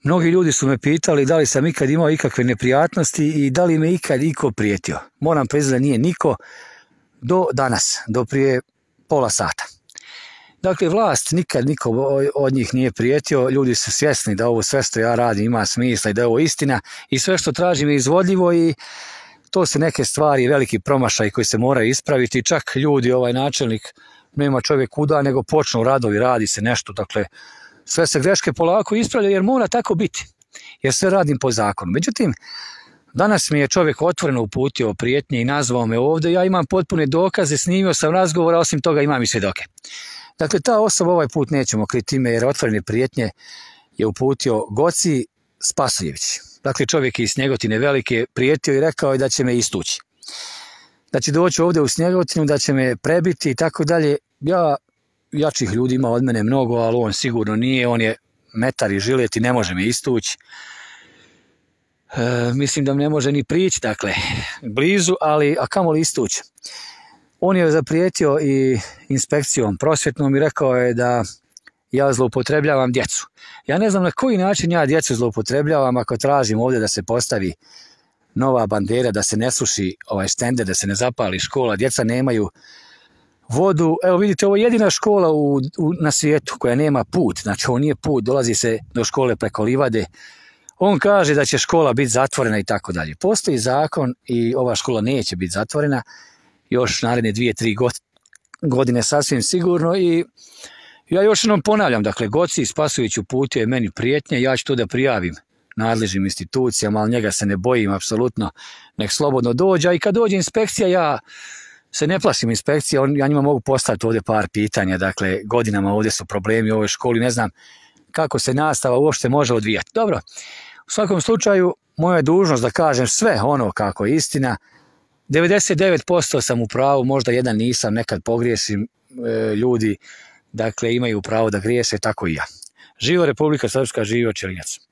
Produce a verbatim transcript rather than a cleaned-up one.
Mnogi ljudi su me pitali da li sam ikad imao ikakve neprijatnosti i da li me ikad iko prijetio. Moram priznati da nije niko do danas, do prije pola sata. Dakle, vlast nikad niko od njih nije prijetio, ljudi su svjesni da ovo sve što ja radim ima smisla i da je ovo istina i sve što tražim je izvodljivo i to su neke stvari, veliki promašaj koji se moraju ispraviti. Čak ljudi, ovaj načelnik, nema čovjek kuda, nego počnu radovi, radi se nešto, dakle, sve se greške polako ispravljaju jer mora tako biti, jer sve radim po zakonu. Međutim, danas mi je čovjek otvoreno uputio prijetnje i nazvao me ovdje, ja imam potpune dokaze, snimio sam razgovor, a osim toga imam i svjedoke. Dakle, ta osoba ovaj put nećemo kriti ime jer otvorene prijetnje je uputio Goci Spasojević. Dakle, čovjek iz Snjegotine Velike prijetio i rekao je da će me istući. Da će doći ovdje u Snjegotinu, da će me prebiti i tako dalje. Ja, jačih ljudi ima od mene mnogo, ali on sigurno nije, on je metar i žilet i ne može me istući. E, mislim da ne može ni prići, dakle, blizu, ali a kamoli istući. On je zaprijetio i inspekcijom prosvjetnom i rekao je da ja zloupotrebljavam djecu. Ja ne znam na koji način ja djecu zloupotrebljavam ako tražim ovdje da se postavi nova bandera, da se ne suši ovaj štender, da se ne zapali škola, djeca nemaju vodu. Evo vidite, ovo je jedina škola u, u, na svijetu koja nema put, znači ovo nije put, dolazi se do škole preko livade. On kaže da će škola biti zatvorena i tako dalje. Postoji zakon i ova škola neće biti zatvorena još naredne dvije, tri godine sasvim sigurno i ja još jednom ponavljam, dakle, Goci Spasojević uputio je meni prijetnje, ja ću to da prijavim nadležnim institucijama, ali njega se ne bojim apsolutno, nek slobodno dođe, i kad dođe inspekcija, ja se ne plašim inspekcija, ja njima mogu postaviti ovdje par pitanja, dakle, godinama ovdje su problemi u ovoj školi, ne znam kako se nastava uopšte može odvijati. Dobro, u svakom slučaju, moja je dužnost da kažem sve ono kako je istina, devedeset devet posto sam u pravu, možda jedan nisam, nekad pogriješim, e, ljudi, dakle, imaju pravo da griješe, tako i ja. Živo Republika Srpska, živio Ćelinjac.